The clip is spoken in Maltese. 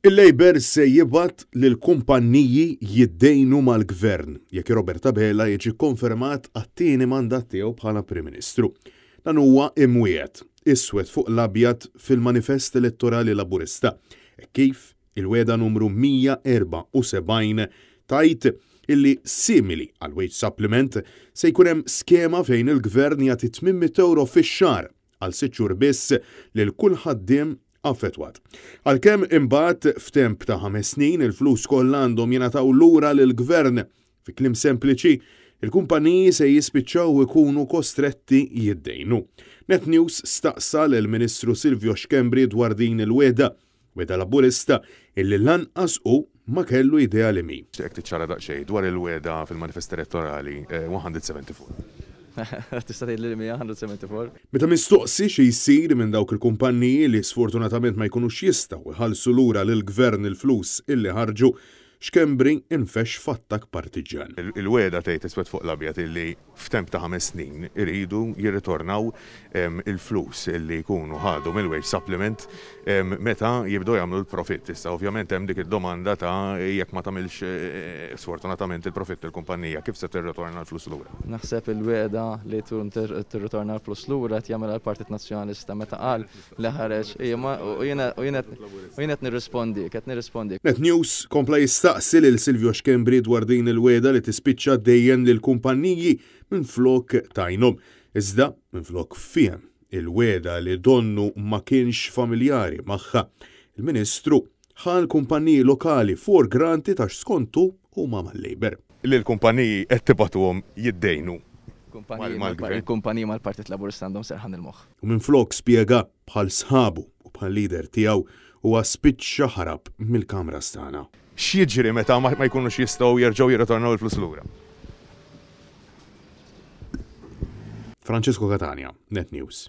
Il-Labour se jibgħat lill-kumpanniji jiddejnu mal-Gvern jekk Robert Abela jiġi kkonfermat għat-tieni mandat tiegħu bħala Prim Ministru. Dan huwa imwiegħed, iswed fuq l-abjad fil-manifest elettorali Laburista, hekk kif il-wegħda numru 174 tgħid illi simili għall-wage supplement se jkun hemm skema fejn il-Gvern jagħti 800 ewro fix-xahar għal sitt xhur biss lil kull ħaddiem affettwat. Għalkemm imbagħad f'temp ta' ħames snin il-flus kollha għandhom jingħataw lura lill-Gvern. Fi kliem sempliċi, il-kumpaniji se jispiċċaw ikunu kostretti jiddejnu. Net News staqsa lill-Ministru Silvio Schembri dwar din il-wegħda, wegħda Laburista illi lanqas hu ma kellu idea li mhi. Nixtieqek tiċċara daqsxejn dwar il-wegħda fil-manifest elettorali 174. Tista' tgħidli li mhi 174? Meta mistoqsi xi jsir minn dawk il-kumpanniji li sfortunatament ma jkunux jistgħu jħallsu lura lill-Gvern il-flus illi ħarġu, Schembri infexx f'attakk partiġġjan. Il-wegħda tgħid iswed fuq l-abjad illi f'temp ta' ħames snin iridu jirritornaw il-flus li jkunu ħadu mill-wage supplement meta jibdew jagħmlu l-profitt. Issa ovvjament hemm dik id-domanda ta' jekk ma tagħmilx sfortunatament il-profitt il-kumpanija kif se tirritorna l-flus lura? Naħseb il-wegħda li tirritorna l-flus lura qed jagħmilha l-Partit Nazzjonalista meta qal li ħareġ u jiena qed nirrispondik, qed nirrispondik. Net News kompla jistaqsi lil Silvio Schembri dwar din il-wegħda li tispiċċa ddejjen lill-kumpanniji minflok tgħinhom. Iżda, minflok fiehem il-wegħda li donnu ma kienx familjari magħha, il-Ministru ħa l-kumpanniji lokali for granted għax skontu huma mal-Labour. Lill-kumpaniji qed tibagħtuhom jiddejnu mal-Gvern. Il-kumpaniji mal-Partit Laburista għandhom serħan il-moħħ. U minflok spjega bħal sħabu u bħal-leader tiegħu, huwa spiċċa ħarab mill-Kamra Stana. X'jiġri meta ma jkunux jistgħu jerġgħu jirritornaw il-flus lura? Francesco Catania, Net News.